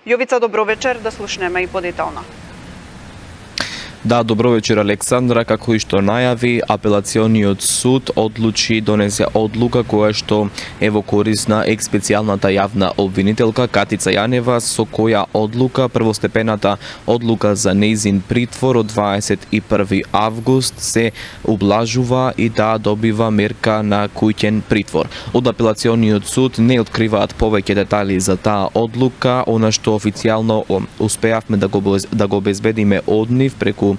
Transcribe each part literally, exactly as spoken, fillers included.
Јовица, добро вечер, да слушнеме и подетално. Да, добро вечер, Александра. Како и што најави, апелациониот суд одлучи донесе одлука која што е во корис на екс-специјалната јавна обвинителка Катица Јанева, со која одлука првостепената одлука за нејзин притвор од дваесет и први август се ублажува и да добива мерка на куќен притвор. Од апелациониот суд не откриваат повеќе детали за таа одлука, она што официјално успеавме да го да го обезбедиме од нив преку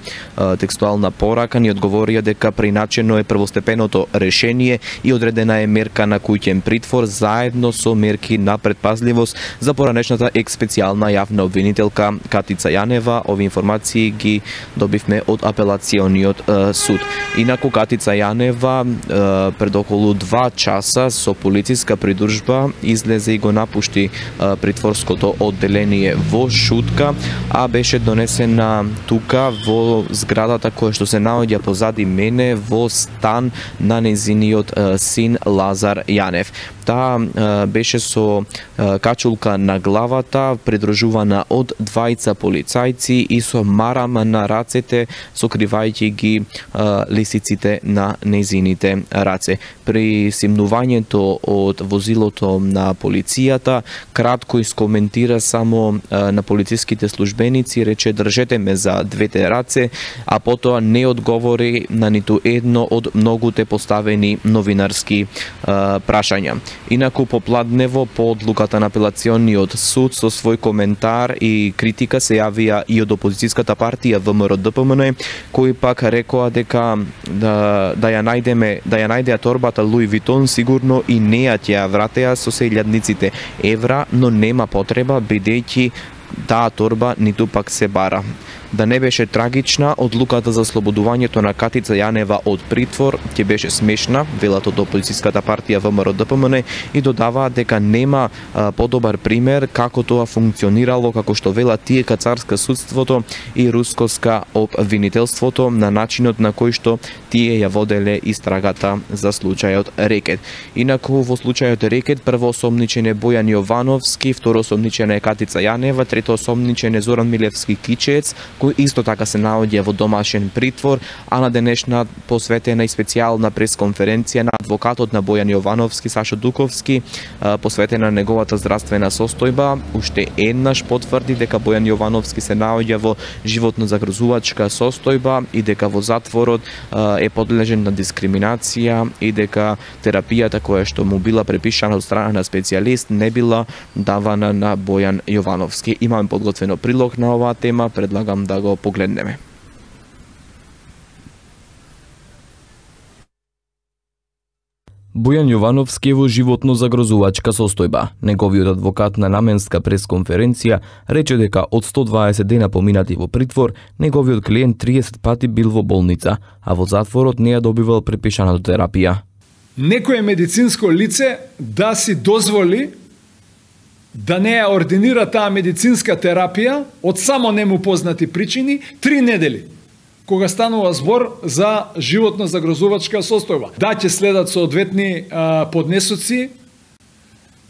текстуална порака, ни одговорија дека приначено е првостепеното решение и одредена е мерка на куќен притвор заедно со мерки на предпазливост за поранешната екс-специјална јавна обвинителка Катица Јанева. Овие информации ги добивме од апелациониот е, суд. Инаку Катица Јанева е, пред околу два часа со полициска придружба излезе и го напушти е, притворското одделение во Шутка, а беше донесена тука во зградата која што се наоѓа позади мене во стан на нејзиниот син Лазар Јанев. Таа беше со качулка на главата, придружувана од двајца полицајци и со марам на рацете, сокривајќи ги лисиците на нејзините раце. При симнувањето од возилото на полицијата, кратко искоментира само на полициските службеници, рече држете ме за двете раце, а потоа не одговори на ниту едно од многуте поставени новинарски а, прашања. Инаку попладнево по одлуката на апелациониот суд со свој коментар и критика се јавија и од опозицијската партија ВМРО-ДПМН, кои пак рекоа дека да, да ја најдеме, да ја најдеа торбата Луи Витон, сигурно и неа ќе ја вратеа со се илјадниците евра, но нема потреба бидејќи таа торба ниту пак се бара. Да не беше трагична, одлуката за слободувањето на Катица Јанева од притвор ќе беше смешна, велат од опозицијската партија ВМРО-ДПМН, и додаваат дека нема а, подобар пример како тоа функционирало, како што велат тие кацарска судството и рускоска обвинителството, на начинот на кој што тие ја воделе истрагата за случајот Рекет. Инаку во случајот Рекет прво осомничен е Бојан Јовановски, второ осомничен е Катица Јанева, трето осомничен е Зоран Милевски Кичец, кој исто така се наоѓа во домашен притвор, а на денешна посветена и специјална пресконференција на адвокатот на Бојан Јовановски, Сашо Дуковски, посветена на неговата здравствена состојба. Уште еднаш потврди дека Бојан Јовановски се наоѓа во животно загрозувачка состојба и дека во затворот е подлежен на дискриминација и дека терапијата која што му била препишана од страна на специјалист не била давана на Бојан Јовановски. Имаме подготвено прилог на оваа тема, предлагам да го погледнеме. Бојан Јовановски е во животно загрозувачка состојба. Неговиот адвокат на наменска пресконференција рече дека од сто дваесет дена поминати во притвор, неговиот клиент триесет пати бил во болница, а во затворот не ја добивал препишаната терапија. Некое медицинско лице да си дозволи да не ја ординира таа медицинска терапија од само нему познати причини три недели, кога станува збор за животно загрозувачка состојба. Да, ќе следат соодветни а, поднесоци,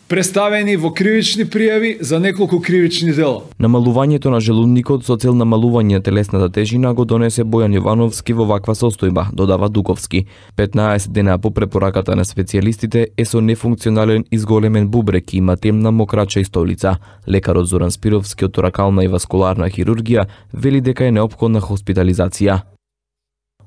представени во кривични пријави за неколку кривични дела. Намалувањето на желудникот со цел намалување на телесната тежина го донесе Бојан Јовановски во ваква состојба, додава Дуковски. петнаесет дена по препораката на специјалистите е со нефункционален изголемен бубрек и има темна мокрача и столица. Лекарот Зоран Спировски од торакална и васкуларна хирургија вели дека е неопходна хоспитализација.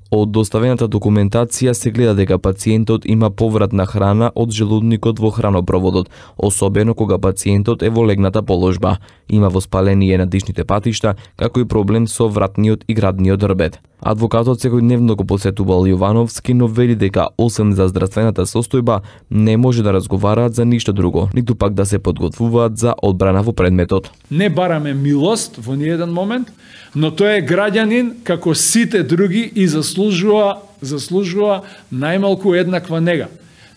Од доставената документација се гледа дека пациентот има поврат на храна од желудникот во хранопроводот, особено кога пациентот е во легната положба. Има воспаление на дишните патишта, како и проблем со вратниот и градниот рбет. Адвокатот секојдневно го посетувал Јовановски, но вели дека освен за здравствената состојба не може да разговараат за ништо друго, ниту пак да се подготвуваат за одбрана во предметот. Не бараме милост во ниеден момент, но тој е граѓанин како сите други и заслужува заслужува најмалку еднаква нега.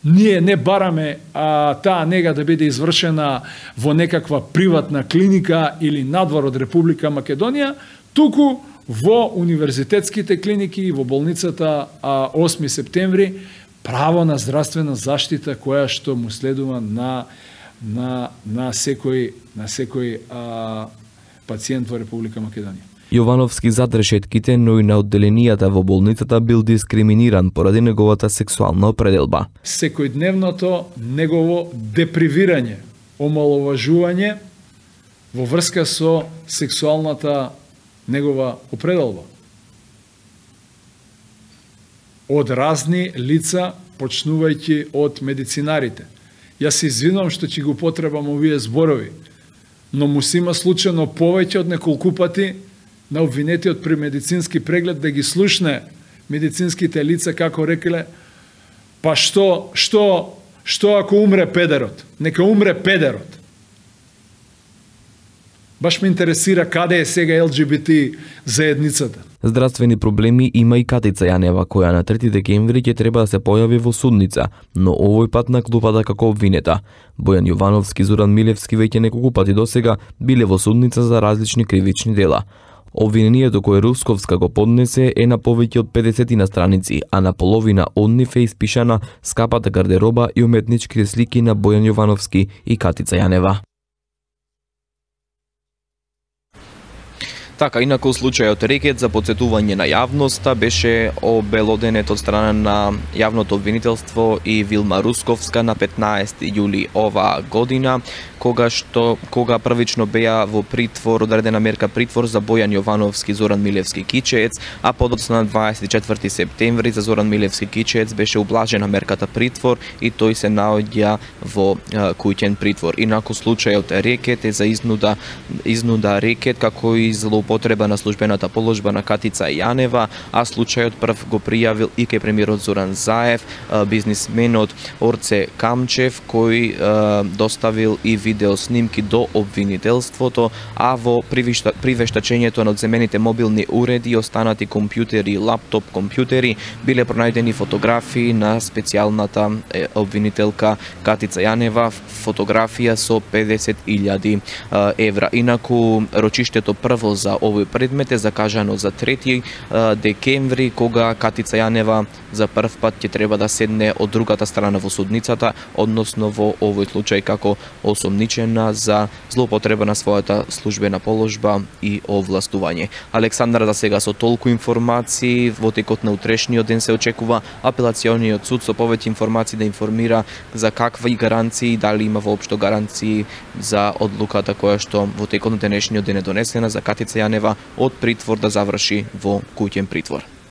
Ние не бараме а, таа нега да биде извршена во некаква приватна клиника или надвор од Република Македонија, туку во универзитетските клиники и во болницата а, осми септември право на здравствена заштита која што му следува на на на секој на секој а, пациент во Република Македонија. Јовановски зад решетките, но и на одделенијата во болницата бил дискриминиран поради неговата сексуална определба. Секојдневното негово депривирање, омаловажување во врска со сексуалната негова определба од разни лица, почнувајќи од медицинарите. Јас се извинувам што ќе го потребам овие зборови, но му се има случајно повеќе од неколку пати на обвинетиот при медицински преглед да ги слушне медицинските лица како рекле, па што, што, што ако умре педерот? Нека умре педерот. Баш ме интересира каде е сега Ел Џи Би Ти заедницата. Здравствени проблеми има и Катица Јанева, која на трети декември ќе треба да се појави во судница, но овој пат на клупата како обвинета. Бојан Јовановски и Зоран Милевски веќе неколку пати досега биле во судница за различни кривични дела. Обвинението кое Русковска го поднесе е на повеќе од педесет на страници, а на половина од нив е испишана скапата гардероба и уметничките слики на Бојан Јовановски и Катица Јанева. Така, инаку случајот рекет за потсетување на јавноста беше обелоденет од страна на јавното обвинителство и Вилма Русковска на петнаесети јули оваа година, кога што кога првично беа во притвор, одредена мерка притвор за Бојан Јовановски и Зоран Милевски Кичеец, а подоцна на дваесет и четврти септември за Зоран Милевски Кичеец беше ублажена мерката притвор и тој се наоѓа во е, куќен притвор. Инаку случајот рекет е за изнуда изнуда рекет како и злоупотреба на службената положба на Катица Јанева, а случајот прв го пријавил и кај премиерот Зоран Заев, бизнисменот Орце Камчев, кој е, доставил и видео снимки до обвинителството, а во привештачењето на одземените мобилни уреди, останати компјутери, лаптоп компјутери, биле пронајдени фотографии на специјалната е, обвинителка Катица Јанева, фотографија со педесет илјади евра. Инаку рочиштето прво за овој предмет е закажано за трети декември, кога Катица Јанева за прв пат ќе треба да седне од другата страна во судницата, односно во овој случај како осомничена за злоупотреба на својата службена положба и овластување. Александра, за сега со толку информации, во текот на утрешниот ден се очекува апелациониот суд со повеќе информации да информира за какви гаранции, дали има воопшто гаранции за одлуката која што во текот на денешниот ден е донесена за Катица Јанева од притвор да заврши во куќен притвор.